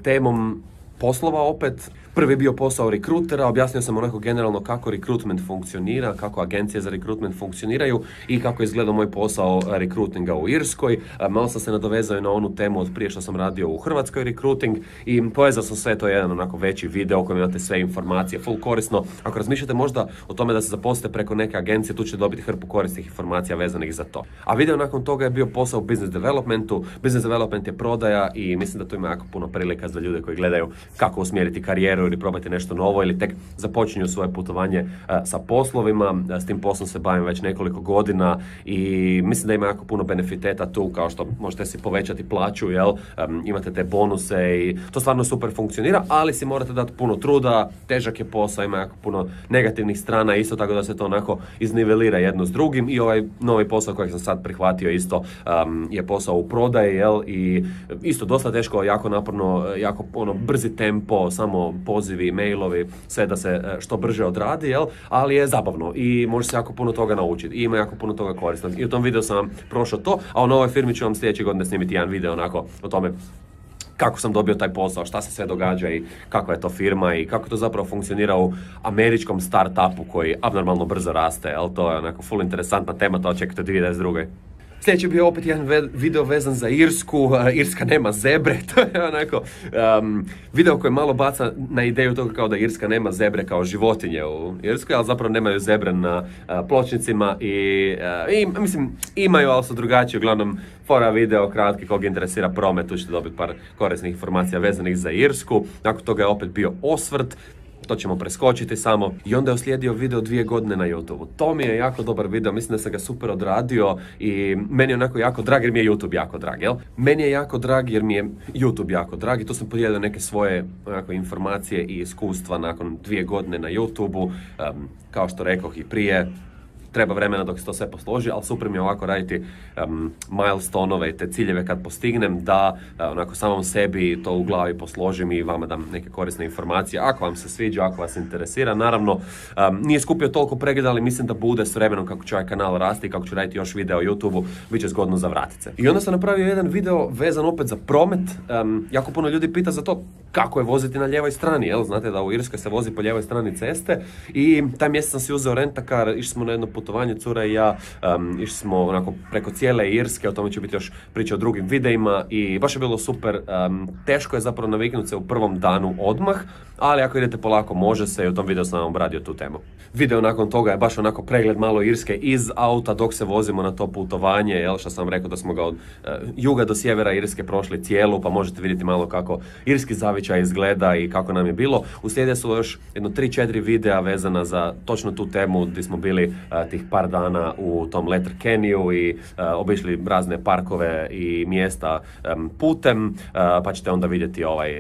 temom poslova opet. Prvi je bio posao rekrutera, objasnio sam onako generalno kako rekrutment funkcionira, kako agencije za rekrutment funkcioniraju i kako je izgledao moj posao rekrutinga u Irskoj. Malo sam se nadovezao na onu temu od prije što sam radio u Hrvatskoj rekruting i povezao sam sve, to je jedan onako veći video u kojem imate sve informacije, full korisno. Ako razmišljate možda o tome da se zaposlite preko neke agencije, tu ćete dobiti hrpu korisnih informacija vezanih za to. A video nakon toga je bio posao u business developmentu. Business development je prodaja i mislim da tu ima jako puno prilika za ljude koji gledaju kako usmjeriti karijeru ili probati nešto novo ili tek započinju svoje putovanje sa poslovima. S tim poslom se bavim već nekoliko godina i mislim da ima jako puno benefiteta tu, kao što možete si povećati plaću, jel? Imate te bonuse i to stvarno super funkcionira, ali si morate dati puno truda, težak je posao, ima jako puno negativnih strana, isto tako da se to onako iznivelira jedno s drugim i ovaj novi posao kojeg sam sad prihvatio isto je posao u prodaji, jel? I isto dosta teško, jako naporno, jako brzi tempo, samo pozivi, mailovi, sve da se što brže odradi, jel? Ali je zabavno i može se jako puno toga naučiti i ima jako puno toga korisnog. I u tom videu sam vam prošao to, a u novoj firmi ću vam sljedeće godine snimiti jedan video onako o tome kako sam dobio taj posao, šta se sve događa i kakva je to firma i kako to zapravo funkcionira u američkom startupu koji abnormalno brzo raste, jel? To je onako full interesantna tema, to očekujte 2022. Sljedeći je bio opet jedan video vezan za Irsku, Irska nema zebre, to je onako video koji malo baca na ideju toga kao da Irska nema zebre kao životinje u Irskoj, ali zapravo nemaju zebre na pločnicima i mislim imaju, ali su drugačiji, uglavnom fora video kratki, kog interesira promet, tu ćete dobiti par korisnih informacija vezanih za Irsku. Nakon toga je opet bio osvrt, to ćemo preskočiti samo. I onda je uslijedio video 2 godine na YouTube-u. To mi je jako dobar video, mislim da sam ga super odradio i meni je onako jako drag jer mi je YouTube jako drag, jel? Meni je jako drag jer mi je YouTube jako drag i tu sam podijelio neke svoje onako informacije i iskustva nakon 2 godine na YouTube-u. Kao što rekoh i prije, treba vremena dok se to sve posloži, ali super mi je ovako raditi milestone-ove i te ciljeve kad postignem, da onako samom sebi to u glavi posložim i vama dam neke korisne informacije. Ako vam se sviđa, ako vas interesira, naravno nije skupio toliko pregleda, ali mislim da bude s vremenom kako će ovaj kanal rasti i kako ću raditi još video o YouTube-u, bit će zgodno za vratit se. I onda sam napravio jedan video vezan opet za promet. Jako puno ljudi pita za to kako je voziti na lijevoj strani, jel? Znate da u Irskoj se vozi po lijevoj strani ceste i taj mjesec sam si uzeo rentakar, išli smo na jedno putovanje, cura i ja, išli smo onako preko cijele Irske, o tome će biti još priča o drugim videima i baš je bilo super. Teško je zapravo naviknuti se u prvom danu odmah, ali ako idete polako može se i u tom videu sam vam obradio tu temu. Video nakon toga je baš onako pregled malo Irske iz auta dok se vozimo na to putovanje, jel, što sam rekao da smo ga od juga do sjevera Irske prošli cijelu, pa možete vidjeti malo kako irski zavičaj izgleda i kako nam je bilo. Uslijedile su još jedno 3-4 videa vezana za točno tu temu gdje smo bili tih par dana u tom Letterkenny i obišli razne parkove i mjesta putem, pa ćete onda vidjeti ovaj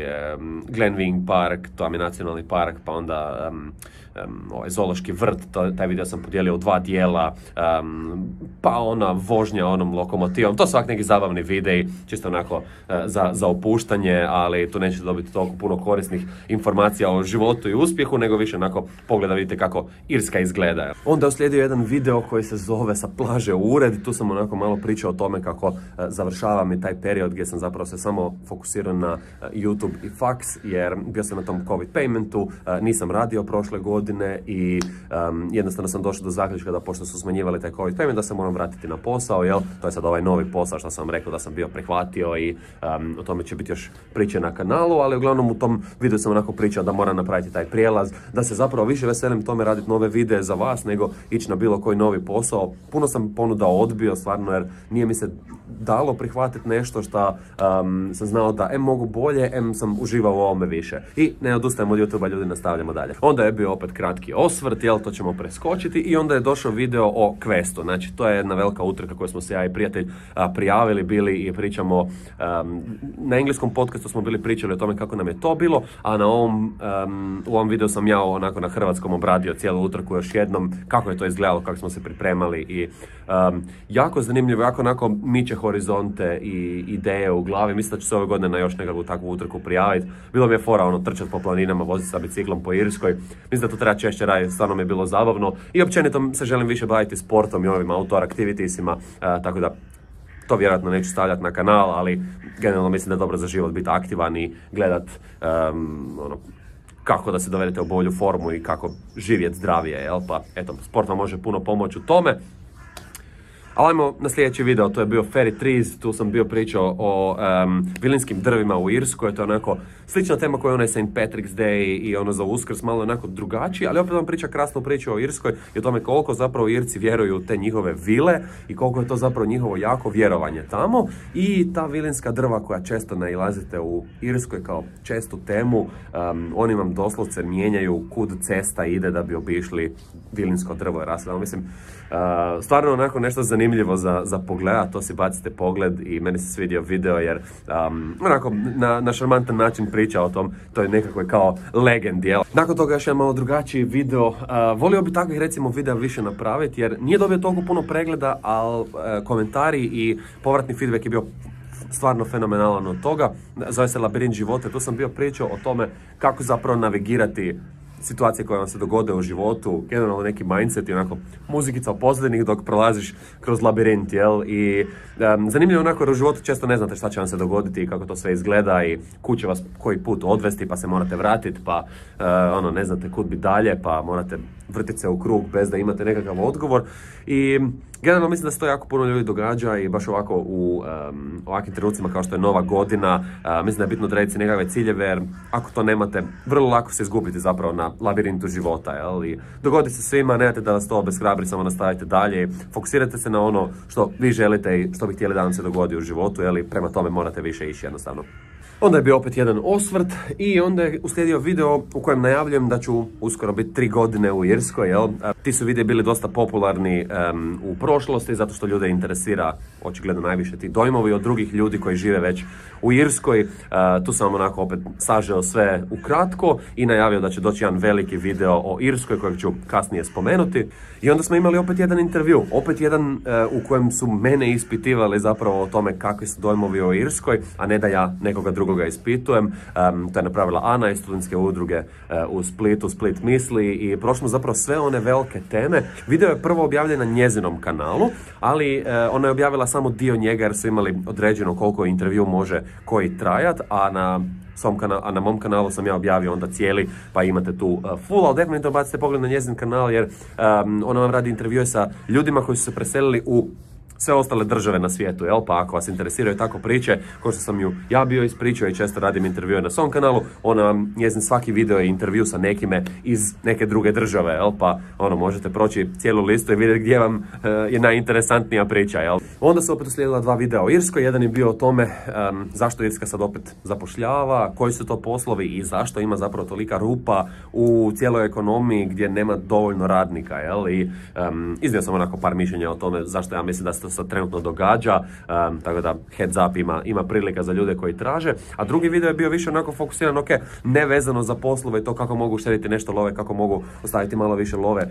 Glenveagh Park, to vam je nacionalni park, pa onda ovaj zoološki vrt, taj video sam podijelio u 2 dijela, pa ona vožnja onom lokomotivom, to su ovak neki zabavni videi, čisto onako za opuštanje, ali tu nećete dobiti toliko puno korisnih informacija o životu i uspjehu, nego više onako pogleda vidite kako Irska izgleda. Onda je uslijedio jedan video koji se zove Sa plaže u ured, tu sam onako malo pričao o tome kako završavam i taj period gdje sam zapravo se samo fokusirao na YouTube i faks, jer bio sam na tom COVID paymentu, nisam radio prošle godine i jednostavno sam došao do zaključka da pošto su smanjivali taj COVID payment da se moram vratiti na posao, jel? To je sad ovaj novi posao što sam vam rekao da sam bio prihvatio i o tome će biti još priče na kanalu, ali uglavnom u tom videu sam onako pričao da moram napraviti taj prijelaz, da se zapravo više veselim tome raditi nove videe za vas nego ići na bilo koji novi posao. Puno sam ponuda odbio stvarno jer nije mi se dalo prihvatiti nešto što sam znao da mogu bolje, sam uživao u ovome više. I ne odustajem od YouTube-a, ljudi, nastavljamo dalje. Onda je bio opet kratki osvrt, jel, to ćemo preskočiti i onda je došao video o Questu. Znači, to je jedna velika utrka koju smo se ja i prijatelj prijavili bili i pričamo, na engleskom podcastu smo bili pričali o tome kako nam je to bilo, a na u ovom videu sam ja onako na hrvatskom obradio cijelu utrku još jednom, kako je to izgledalo, kako smo se pripremali i jako zanimljivo, jako onako miče horizonte i ideje u glavi. Mislim da ću se ove godine na još nekakvu takvu utrku prijaviti. Bilo mi je fora ono trčati po planinama, voziti sa biciklom po Irskoj. Mislim da to treba češće raditi, stvarno mi je bilo zabavno i općenito se želim više baviti sportom i ovim outdoor activitiesima, tako da to vjerojatno neću stavljati na kanal, ali generalno mislim da je dobro za život biti aktivan i gledat kako da se dovedete u bolju formu i kako živjeti zdravije, jel? Pa eto, sport vam može puno pomoći u tome. Ali ajmo na sljedeći video, to je bio Fairy Trees, tu sam bio pričao o vilinskim drvima u Irskoj, to je onako slična tema koja je onaj St. Patrick's Day i ono za Uskrs, malo onako drugačiji, ali opet vam priča krasnu priču o Irskoj i o tome koliko zapravo Irci vjeruju u te njihove vile i koliko je to zapravo njihovo jako vjerovanje tamo i ta vilinska drva koja često nailazite u Irskoj kao čestu temu, oni vam doslovce mijenjaju kud cesta ide da bi obišli vilinsko drvo. Mislim, stvarno onako nešto zanimljivo za pogledat, to si bacite pogled i meni se svidio video jer onako na šarmantan način priča o tom, to je nekakve kao legendi, jel? Nakon toga još jedan malo drugačiji video, volio bi takvih recimo videa više napraviti jer nije dobio toliko puno pregleda, ali komentari i povratni feedback je bio stvarno fenomenalan od toga. Zove se Labirint života, tu sam bio pričao o tome kako zapravo navigirati situacije koje vam se dogode u životu, generalno neki mindset i onako muzikica pozadini dok prolaziš kroz labirint, jel? I zanimljivo onako jer u životu često ne znate šta će vam se dogoditi i kako to sve izgleda i kud će vas koji put odvesti pa se morate vratiti pa ne znate kud bi dalje pa morate vrtiti se u krug bez da imate nekakav odgovor i generalno mislim da se to jako puno ljudi događa i baš ovako u ovakvim trenucima kao što je Nova godina, mislim da je bitno odrediti si nekakve ciljeve jer ako to nemate, vrlo lako se izgubiti zapravo na labirintu života, jel? I dogodi se svima, nemate da vas to obeshrabri, samo nastavite dalje, fokusirajte se na ono što vi želite i što bi htjeli da vam se dogodi u životu, jel? I prema tome morate više ići jednostavno. Onda je bio opet jedan osvrt i onda je uslijedio video u kojem najavljujem da ću uskoro biti 3 godine u Irskoj, jel? Ti su videi bili dosta popularni u prošlosti zato što ljude interesira očigledno najviše ti dojmovi od drugih ljudi koji žive već u Irskoj. Tu sam onako opet sažeo sve ukratko i najavio da će doći jedan veliki video o Irskoj kojeg ću kasnije spomenuti. I onda smo imali opet jedan intervju, opet jedan u kojem su mene ispitivali zapravo o tome kakvi su dojmovi o Irskoj, a ne da ja nekoga drugoga ispitujem. To je napravila Ana iz studentske udruge u Splitu, Split misli i prošlo zapravo sve one velike teme. Video je prvo objavljen na njezinom kanalu, ali ona je objavila samo dio njega jer su imali određeno koliko intervju može koji trajat, a na mom kanalu sam ja objavio onda cijeli, pa imate tu full, ali definitivno bacite pogled na njezin kanal jer ona vam radi intervjue sa ljudima koji su se preselili u sve ostale države na svijetu, jel? Pa ako vas interesiraju tako priče, kao što sam ju ja bio ispričao i često radim intervjue na svom kanalu, njezin svaki video je intervju sa nekime iz neke druge države, jel? Pa možete proći cijelu listu i vidjeti gdje vam je najinteresantnija priča, jel? Onda su opet uslijedila 2 videa o Irskoj, jedan je bio o tome zašto Irska sad opet zapošljava, koji su to poslovi i zašto ima zapravo tolika rupa u cijeloj ekonomiji gdje nema dovoljno radnika, jel? I iznio sam onako par mišljenja o tome zašto ja mislim da se to što se trenutno događa, tako da heads up ima prilika za ljude koji traže. A drugi video je bio više onako fokusiran, ok, ne vezano za poslove i to kako mogu uštediti nešto love, kako mogu ostaviti malo više love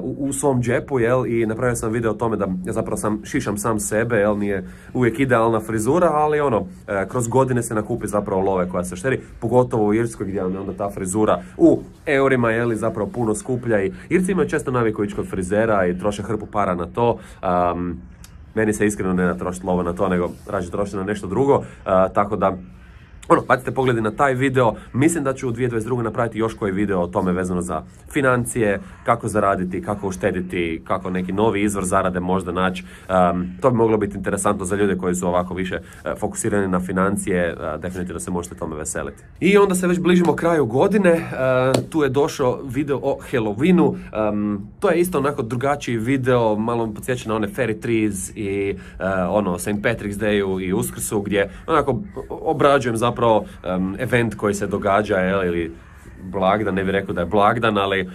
u svom džepu, jel, i napravio sam video o tome da zapravo šišam sam sebe, jel, nije uvijek idealna frizura, ali ono, kroz godine se nakupi zapravo love koja se štedi, pogotovo u Irskoj gdje je onda ta frizura u eurima, jel, zapravo puno skuplja i Irci imaju često naviku ići kod frizera i troše hrpu para na to. Meni se iskreno ne trošiti lova na to, nego rađe trošiti na nešto drugo, tako da bacite pogledi na taj video. Mislim da ću u 2022. napraviti još koji video o tome vezano za financije, kako zaraditi, kako uštediti, kako neki novi izvor zarade možda naći. To bi moglo biti interesantno za ljude koji su ovako više fokusirani na financije. Definitivno se možete tome veseliti. I onda se već bližimo kraju godine. Tu je došao video o Halloweenu. To je isto onako drugačiji video, malo mi podsjeća na one Fairy Trees i St. Patrick's Dayu i Uskrsu, gdje onako obrađujem zapravo event koji se događa, ili blagdan, ne bih rekao da je blagdan, ali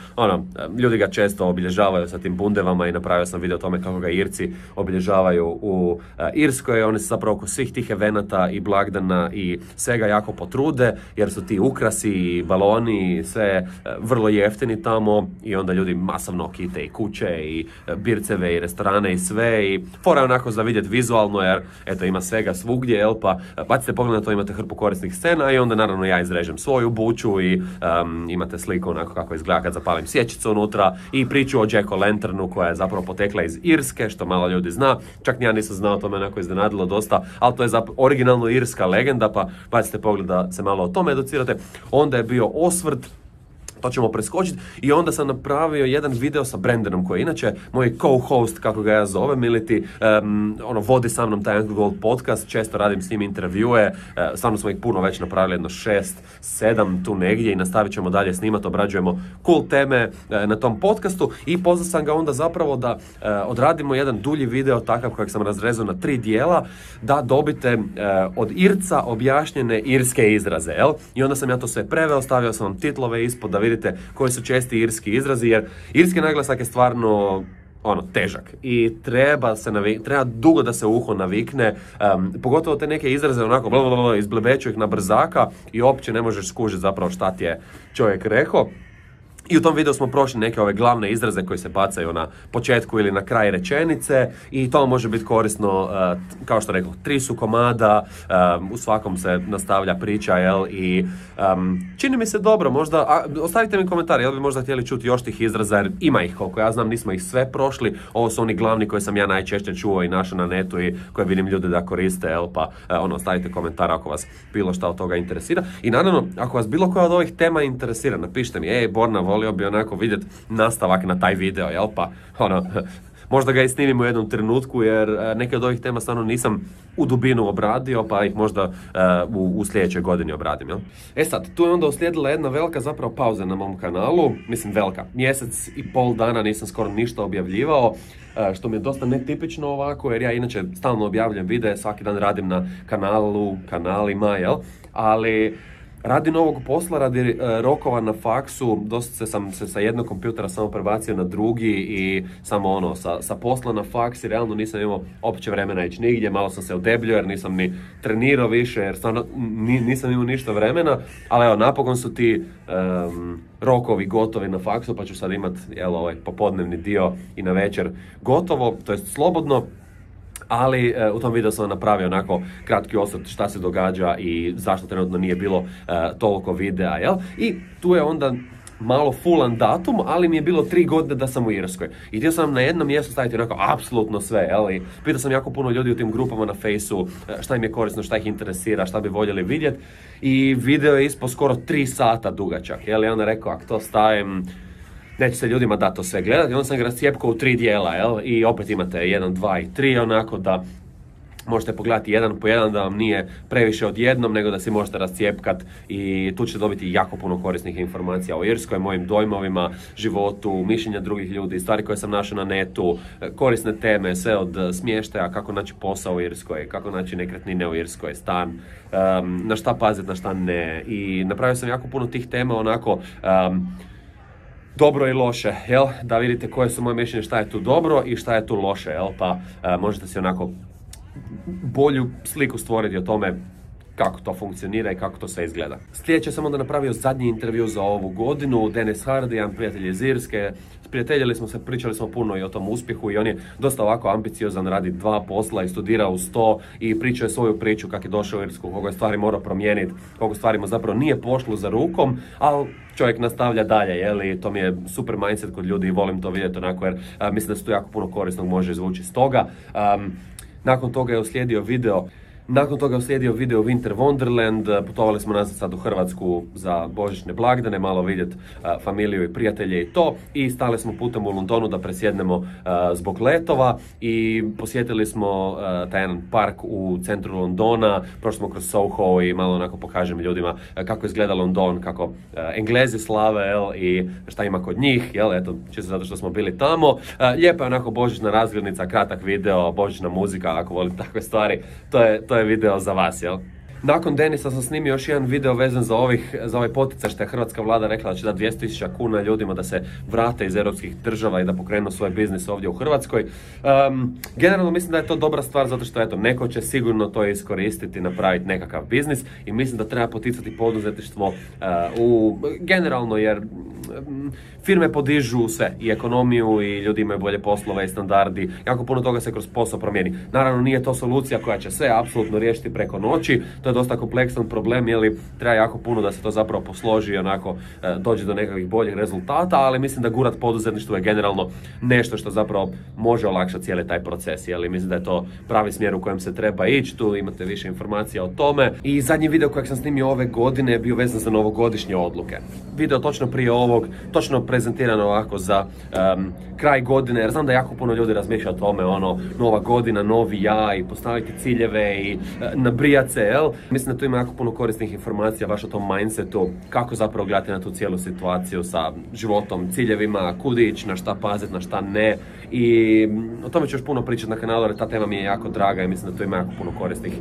ljudi ga često obilježavaju sa tim bundevama i napravio sam video o tome kako ga Irci obilježavaju u Irskoj. Oni se zapravo oko svih tih evenata i blagdana i svega jako potrude, jer su ti ukrasi i baloni i sve vrlo jeftini tamo i onda ljudi masovno kite i kuće i birceve i restorane i sve i fora onako za vidjeti vizualno, jer eto ima svega svugdje, jel, pa bacite pogled na to, imate hrpu korisnih scena i onda naravno ja izrežem svoju buču i imate sliku onako kako izgleda kad zapalim sječicu unutra i priču o Jack-o'-lanternu koja je zapravo potekla iz Irske, što malo ljudi zna. Čak ni ja nisam znao, to me onako iznenadilo dosta, ali to je originalno irska legenda, pa bacite pogled da se malo o tome educirate. Onda je bio osvrt, to ćemo preskočiti, i onda sam napravio jedan video sa Brandonom koji je inače moj co-host, kako ga ja zovem, iliti vodi sa mnom taj Anglo Gold podcast, često radim s njim intervjue, stvarno smo ih puno već napravili, jedno 6-7 tu negdje i nastavit ćemo dalje snimati, obrađujemo cool teme na tom podcastu i pozvao sam ga onda zapravo da odradimo jedan dulji video takav kojeg sam razrezao na 3 dijela, da dobite od Irca objašnjene irske izraze, jel? I onda sam ja to sve preveo, stavio sam vam titlove ispod da vidite koji su česti irski izrazi, jer irski naglasak je stvarno težak i treba dugo da se uho navikne, pogotovo te neke izraze onako izblebeću ih na brzaka i uopće ne možeš skužiti zapravo šta ti je čovjek rekao. I u tom videu smo prošli neke ove glavne izraze koji se bacaju na početku ili na kraj rečenice i to može biti korisno, kao što rekao, 3 su komada, u svakom se nastavlja priča, jel, i čini mi se dobro, možda, ostavite mi komentar, jel bi možda htjeli čuti još tih izraza, jer ima ih, koliko ja znam, nismo ih sve prošli, ovo su oni glavni koji sam ja najčešće čuo i našao na netu i koje vidim ljude da koriste, jel, pa ostavite komentar ako vas bilo šta od toga interesira. I naravno, ako vas bilo koja od ovih tema interesira, napišite mi, Borna, volio bi onako vidjeti nastavak na taj video, jel, pa možda ga i snimim u jednom trenutku, jer neke od ovih tema stvarno nisam u dubinu obradio, pa ih možda u sljedećoj godini obradim, jel? Sad, tu je onda uslijedila jedna velika zapravo pauza na mom kanalu, mislim velika, 1,5 mjeseci dana nisam skoro ništa objavljivao, što mi je dosta netipično ovako, jer ja inače stalno objavljam videe, svaki dan radim na kanalima, jel, ali radi novog posla, radi rokova na faksu, dosta sam se sa jednog kompjutera samo prebacio na drugi i samo sa posla na faks i realno nisam imao opće vremena ići nigdje, malo sam se udebljio jer nisam ni trenirao više jer stvarno nisam imao ništa vremena, ali evo, napokon su ti rokovi gotovi na faksu, pa ću sad imati ovaj popodnevni dio i na večer gotovo, to jest slobodno. Ali u tom videu sam napravio onako kratki osvrt šta se događa i zašto trenutno nije bilo toliko videa, jel? I tu je onda malo fullan datum, ali mi je bilo 3 godine da sam u Irskoj. I htio sam na jednom mjestu staviti onako apsolutno sve, jel? I pitao sam jako puno ljudi u tim grupama na Fejsu šta im je korisno, šta ih interesira, šta bi voljeli vidjeti. I video je ispod skoro 3 sata dugačak, jel? I onda rekao, ako to stavim, neće se ljudima da to sve gledati, i onda sam ga rascijepkao u 3 dijela, jel? I opet imate 1, 2 i 3, onako da možete pogledati jedan po jedan, da vam nije previše odjednom, nego da si možete rascijepkat i tu ćete dobiti jako puno korisnih informacija o Irskoj, mojim dojmovima, životu, mišljenja drugih ljudi, stvari koje sam našao na netu, korisne teme, sve od smještaja, kako naći posao u Irskoj, kako naći nekretnine u Irskoj, stan, na šta paziti, na šta ne. I napravio sam jako puno tih tema onako dobro i loše, jel? Da vidite koje su moje mišljenje, šta je tu dobro i šta je tu loše, jel? Pa možete si onako bolju sliku stvoriti o tome kako to funkcionira i kako to sve izgleda. Sljedeće sam onda napravio zadnji intervju za ovu godinu, Dennis Hardy, jedan prijatelj iz Irske. Sprijateljili smo se, pričali smo puno i o tom uspjehu i on je dosta ovako ambiciozan, radi 2 posla i studira uz to i pričao je svoju priču kako je došao u Irsku, koliko je stvari morao promijeniti, koliko stvari mu zapravo nije pošlo za rukom, ali čovjek nastavlja dalje, jel? I to mi je super mindset kod ljudi i volim to vidjeti onako jer mislim da se tu jako puno korisnog može izvući iz toga. Nakon toga je uslijedio video Winter Wonderland, putovali smo nazad sad u Hrvatsku za božićne blagdane, malo vidjeti familiju i prijatelje i to. I stali smo putem u Londonu da presjednemo zbog letova i posjetili smo taj jedan park u centru Londona, prošli smo kroz Soho i malo onako pokažem ljudima kako izgleda London, kako Englezi slave, jel, i šta ima kod njih, jel, eto, čisto zato što smo bili tamo. Lijepa je onako božićna razglednica, kratak video, božićna muzika, ako volite takve stvari, to je video za vas, jel? Nakon Denisa sam snimio još jedan video vezan za ovaj poticaj što je hrvatska vlada rekla da će dati 200.000 kuna ljudima da se vrate iz europskih država i da pokrenu svoj biznis ovdje u Hrvatskoj. Generalno mislim da je to dobra stvar zato što eto, neko će sigurno to iskoristiti, napraviti nekakav biznis i mislim da treba poticati poduzetništvo generalno jer firme podižu sve, i ekonomiju i ljudi imaju bolje poslove i standardi, jako puno toga se kroz posao promijeni. Naravno nije to solucija koja će sve apsolutno riješiti preko noći, to je dosta kompleksan problem, jer treba jako puno da se to zapravo posloži i onako dođe do nekakvih boljih rezultata, ali mislim da gurat poduzetništvo je generalno nešto što zapravo može olakšati cijeli taj proces, jer mislim da je to pravi smjer u kojem se treba ići, tu imate više informacija o tome. I zadnji video kojeg sam snimio ove godine je bio vezan za novogodišnje odluke. Video točno prije ovog, točno prezentirano ovako za kraj godine, jer znam da jako puno ljudi razmišlja o tome, ono, nova godina, novi ja i postaviti ciljeve i nabrijat se, jel? Mislim da tu ima jako puno korisnih informacija baš o tom mindsetu, kako zapravo gledati na tu cijelu situaciju sa životom, ciljevima, kud ići, na šta paziti, na šta ne. I o tome ću još puno pričati na kanalu, jer ta tema mi je jako draga i mislim da tu ima jako puno korisnih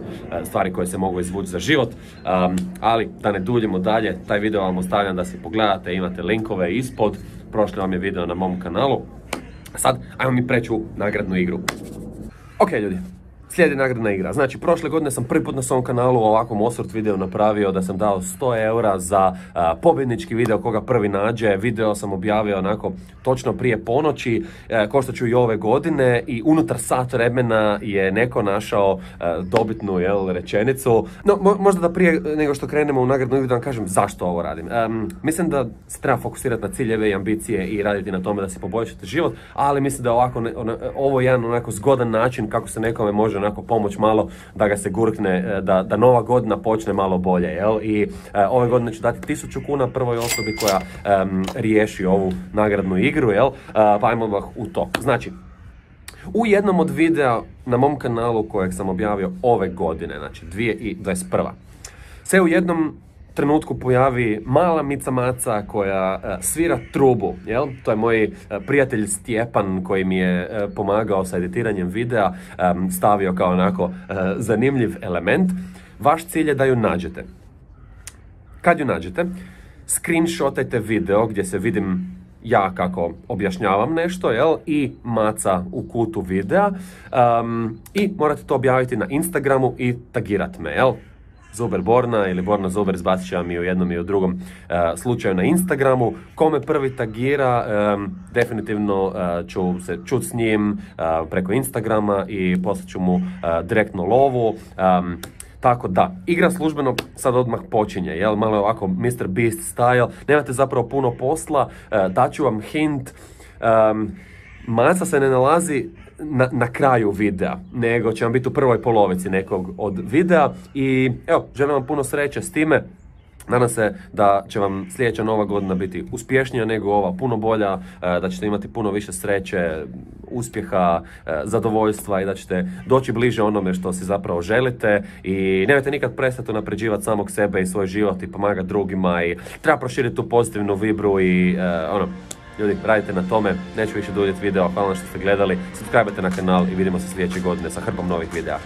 stvari koje se mogu izvući za život. Ali da ne duljimo dalje, taj video vam ostavljam da si pogledate, imate linkove ispod. Prošli vam je video na mom kanalu. Sad, ajmo mi preći u nagradnu igru. Ok ljudi, slijedi nagradna igra. Znači, prošle godine sam prvi put na svom kanalu ovakvom osvrt video napravio da sam dao 100 eura za pobjednički video koga prvi nađe. Video sam objavio onako točno prije ponoći, koštat ću i ove godine i unutar sat vremena je neko našao dobitnu rečenicu. No, možda da prije nego što krenemo u nagradnu igru da vam kažem zašto ovo radim. Mislim da se treba fokusirati na ciljeve i ambicije i raditi na tome da si poboljšate život, ali mislim da ovo je jedan onako zgodan način kako se nekome može onako pomoć malo da ga se gurkne, da nova godina počne malo bolje, jel? I ove godine ću dati 1000 kuna prvoj osobi koja riješi ovu nagradnu igru, jel? Pa ajmo odmah u to. Znači, u jednom od videa na mom kanalu kojeg sam objavio ove godine, znači 2021. se u jednom trenutku pojavi mala Mica Maca koja svira trubu, jel? To je moj prijatelj Stjepan koji mi je pomagao sa editiranjem videa, stavio kao onako zanimljiv element. Vaš cilj je da ju nađete. Kad ju nađete, screenshotajte video gdje se vidim ja kako objašnjavam nešto, jel? I Maca u kutu videa, i morate to objaviti na Instagramu i tagirat me, jel? Zuber Borna ili Borna Zuber, izbacit će vam i u jednom i u drugom slučaju na Instagramu. Kome prvi tagira, definitivno ću se čut s njim preko Instagrama i poslat ću mu direktno lovu. Tako da, igra službeno sad odmah počinje, jel? Malo je ovako Mr. Beast style, nemate zapravo puno posla, daću vam hint. Maca se ne nalazi na kraju videa, nego će vam biti u prvoj polovici nekog od videa i evo, želim vam puno sreće s time. Nadam se da će vam sljedeća nova godina biti uspješnija nego ova, puno bolja, da ćete imati puno više sreće, uspjeha, zadovoljstva i da ćete doći bliže onome što si zapravo želite i nemojte nikad prestati unapređivati samog sebe i svoj život i pomagati drugima i treba proširiti tu pozitivnu vibru i ljudi, radite na tome, neću više duljiti video, hvala što ste gledali, subscribe-te na kanal i vidimo se sljedeće godine sa hrpom novih videa.